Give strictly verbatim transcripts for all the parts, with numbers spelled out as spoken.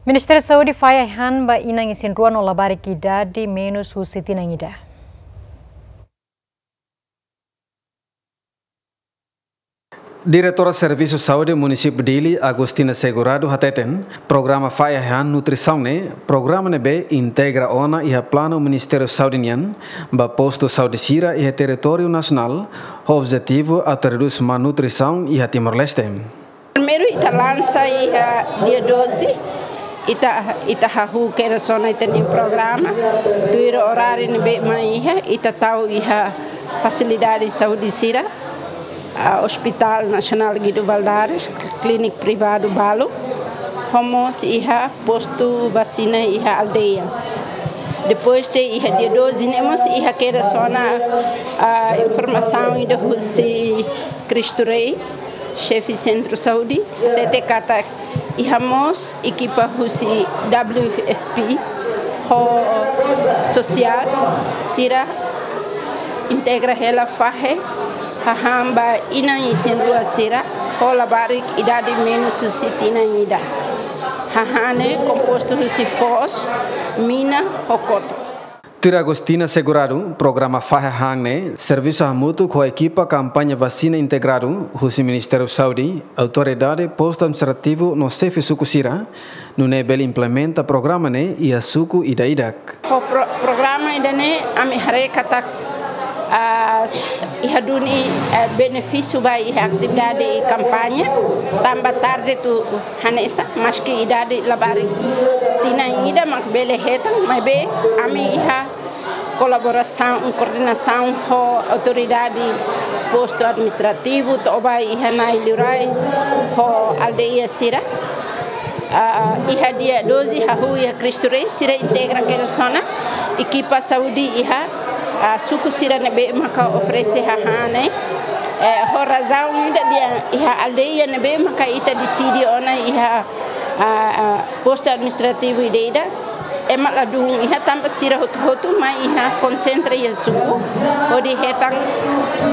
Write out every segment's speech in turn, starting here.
Ministériu Saúde fahe ai-han ba inan isin-rua no labarik idade menus husi tinan ida. Diretora Servisu Saúde Munisípiu Dili, Agostina Segurado, hateten, programa fahe ai-han nutrisaun ne'e programa ne'ebé integra ona iha planu Ministériu Saúde nian ba postu saúde sira iha territóriu nasionál, ho objetivu atu redús malnutrisaun iha Timor-Leste. Primeiru ita lansa iha dia doze, ita, ita hahú kedas ona ita-nia programa, tuir oráriu ne'ebé mak iha, ita tau iha fasilidade saúde sira, ah, Hospital Nasionál Guido Valadares, klínika privadu balu, ho mós iha postu vasina iha aldeia. Depois de iha dia doze ne'e mós iha kedas ona, ah, informasaun ida husi Cristo Rei, xefe Sentru Saúde, hatete katak iha mós ekipa husi W F P ho sosiál sira integra hela fahe hahán ba inan isin-rua sira ho labarik idade menus husi tinan ida. Hahán ne'e kompostu husi foos, mina ho kotuk. Tuir Agostina Segurado, programa fahe hahán ne'e servisu hamutuk ho ekipa kampaña vasina integradu husi Ministériu Saúde, autoridade postu administrativu no xefe suku sira, nune'e bele implementa programa ne'e iha suku ida-idak. Ho pro-, programa ida-ne'e ami haree katak, ah, s-, iha duni, eh, benefísiu ba iha atividade kampaña, tanba tarjetu hanesan, maski idade labarik tinan ida mak bele hetan, maibé ami iha kolaborasaun, koordenasaun ho autoridade postu administrativu, to'o ba iha na'i liurai ho aldeia sira. Ah, iha dia doze hahú iha Cristo Rei, sira integra kedas ona ekipa saúde iha, ah, suku sira ne'ebé maka oferese hahán ne'e. Eh, ho razaun ida dehan iha aldeia ne'ebé maka ita deside ona iha, ah, ah, postu administrativu ida-idak, ema ladún iha tanba sira hotu-hotu mai iha konsentra iha suku, hodi hetan,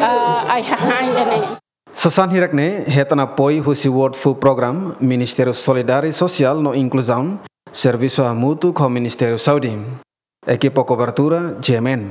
ah, ai-hahán ida-ne'e. Sasán hirak-ne'e hetan apoiu husi World Food Programme, Ministériu Solidariedade Sosiál no Inkluzaun, servisu hamutuk ho Ministériu Saúde. Ekipa kobertura, G M N.